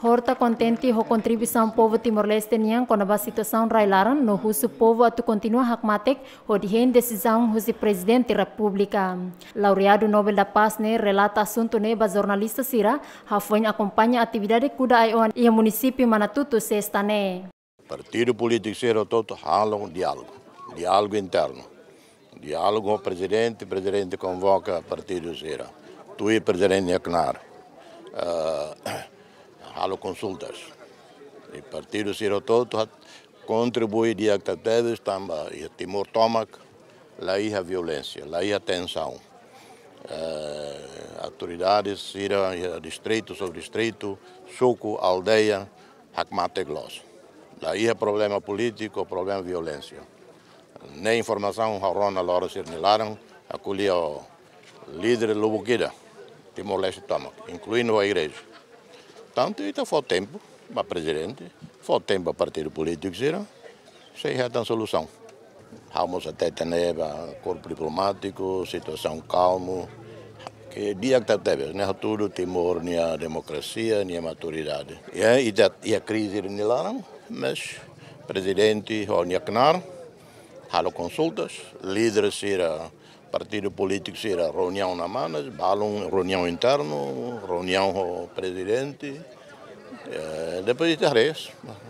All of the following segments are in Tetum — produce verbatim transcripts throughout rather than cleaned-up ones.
Horta kontente ho kontribuisaun povu Timor-Leste nian kona-ba situasaun rai-laran no husu povu atu kontinua hakmatek hodi hein desizaun husi Prezidente Repúblika. Laureadu Nobel da Paz ne'e relata asuntu ne'e ba jornalista sira, hafoin akompaña atividade kuda ai-oan iha munisípiu Manatutu sesta ne'e. Partidu polítiku sira hotu-hotu halo diálogu, diálogu internu. Diálogu ho prezidente, prezidente konvoka partidu sira. Tuir prezidente nia knaar. Eh, halo konsultas. I partidu sira hotu-hotu kontribui di'ak tebes tanba iha Timor tomak la iha violénsia, la iha tensaun. Eh, autoridades sira iha distritu, subdistritu, suku, aldeia, hakmatek loos. La iha problema polítiku, problema violénsia. Ne'e informasaun ha'u rona loron sira-nia laran, ha'u ko'alia ho líder lubuk ida, Timor-Leste tomak, inkluindu ho igreja. Tantu ita fó tempu ba prezidente, fó tempu ba partidu polítiku sira, sei hetan solusaun. Ha'u mós hatete ne'e ba korpu diplomátiku, situasaun kalmu, ke di'ak tebes, ne'e hatudu Timor nia demokrasia, nia maturidade. Iha, iha, iha krize ida-ne'e nia laran, mas prezidente ho nia knaar halo konsultas, líder sira, partidu polítiku sira reuniaun iha Manas, balun reuniaun internu, reuniaun ho prezidente. Eh, depois ita haree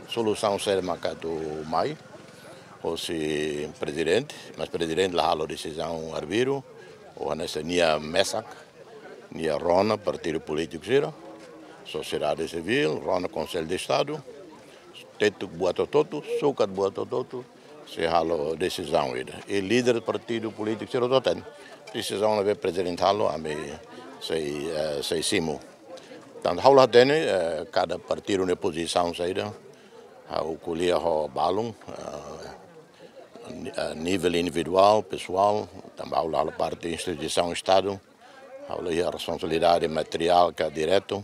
solusaun saida mak atu mai hosi prezidente, mas prezidente la halo desizaun arbiru, ou hanesan nia mesak, nia rona partidu polítiku sira, sosiedade sivíl, rona Konsellu de Estadu, tetu buat hotu-hotu, sukat buat hotu-hotu, sei halo desizaun ida. I líder partidu polítiku sira hotu hatene. Desizaun ne'ebé prezidente halo, ami sei, eh, sei simu. Tantu ha'u la hatene, eh, kada partidu nia pozisaun saida. Ha'u ko'alia ho balun, eh, ni-, eh, nivel individuál, pesoál, tanba ha'u la halo parte instituisaun Estadu. Ha'u la iha responsabilidade materiál ka diretu.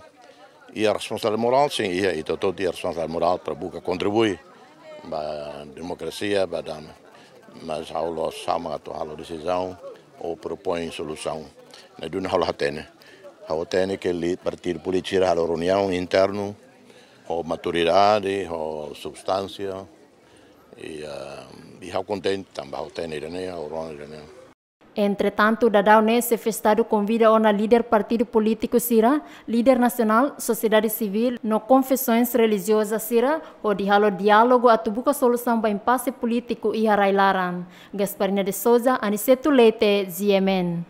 Iha responsabilidade morál, sin, iha, ita hotu-hotu iha responsabilidade morál para buka kontribui ba demokrasia, ba dame. Mas ha'u la'ós sama atu halo desizaun ou propoin solusaun. Ne'e duni ha'u la hatene. Ha'u hatene ke li-, partidu polítiku sira halo reuniaun internu, ho maturidade, ho substánsia. I, ah, i ha'u kontente, tanba ha'u hatene ida-ne'e, ha'u rona ida-ne'e. Entretantu, daudaun ne'e Xefe Estadu konvida ona líder partidu polítiku sira, líder nasionál, sosiedade sivíl, no konfesoens relijioza sira, hodi halo diálogu atu buka solusaun ba impase polítiku iha rai-laran. Gasparina de Souza, Aniceto Leite, G M N.